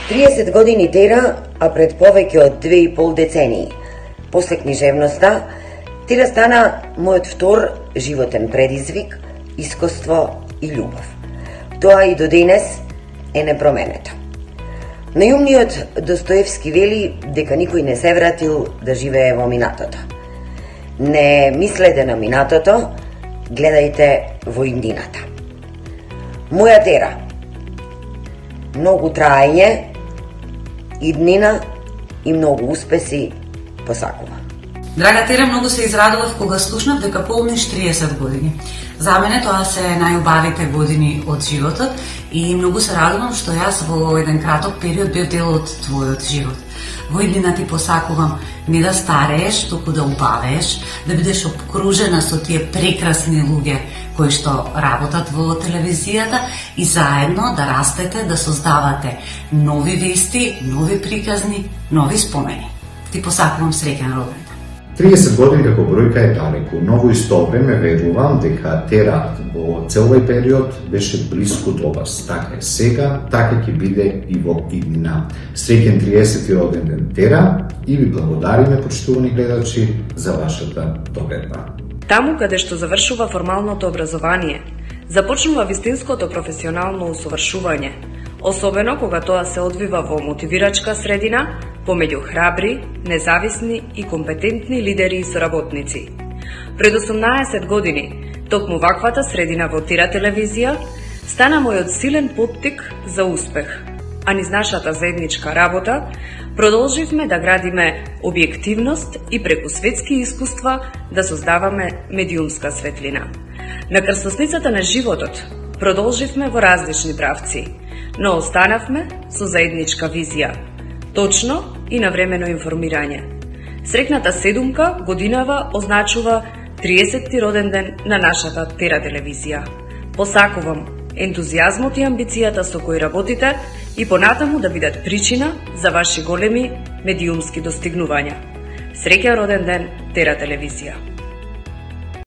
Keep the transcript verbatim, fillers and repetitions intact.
триесет години Тера, а пред повеќе од две и пол децении. После книжевноста, Тера стана мојот втор животен предизвик, искуство и љубов. Тоа и до денес е непроменето. Најумниот Достоевски вели дека никој не се вратил да живее во минатото. Не мислете на минатото, гледајте во иднината. Моја Тера. Многу траење, иднина и многу успеси посакува. Драга Тера, многу се израдував кога слушнав дека полниш триесет години. За мене тоа се најубавите години од животот и многу се радувам што јас во еден краток период бев дел од твојот живот. Во иднина ти посакувам не да старееш, туку да убавееш, да бидеш обкружена со тие прекрасни луѓе кои што работат во телевизијата и заедно да растете, да создавате нови вести, нови приказни, нови спомени. Ти посакувам среќен роденден. триесет години како бројка е далеку, но во исто време верувам дека Тера во цел овој период беше блиску до вас. Така е сега, така ќе биде и во иднина. Среќен триесети роденден, Тера, и ви благодариме, почитувани гледачи, за вашата догледба. Таму каде што завршува формалното образование, започнува вистинското професионално усовршување, особено кога тоа се одвива во мотивирачка средина, помеѓу храбри, независни и компетентни лидери и соработници. Пред осумнаесет години, токму ваквата средина во Тира телевизија стана мојот силен поттик за успех, а низ нашата заедничка работа продолживме да градиме објективност и преку светски искуства да создаваме медиумска светлина. На крстосницата на животот продолживме во различни правци, но останавме со заедничка визија, точно и навремено информирање. Срекната седумка годинава означува триесетти роден ден на нашата Тера телевизија. Посакувам ентузијазмот и амбицијата со кои работите и понатаму да бидат причина за ваши големи медиумски достигнувања. Среќен роден ден, Тера телевизија!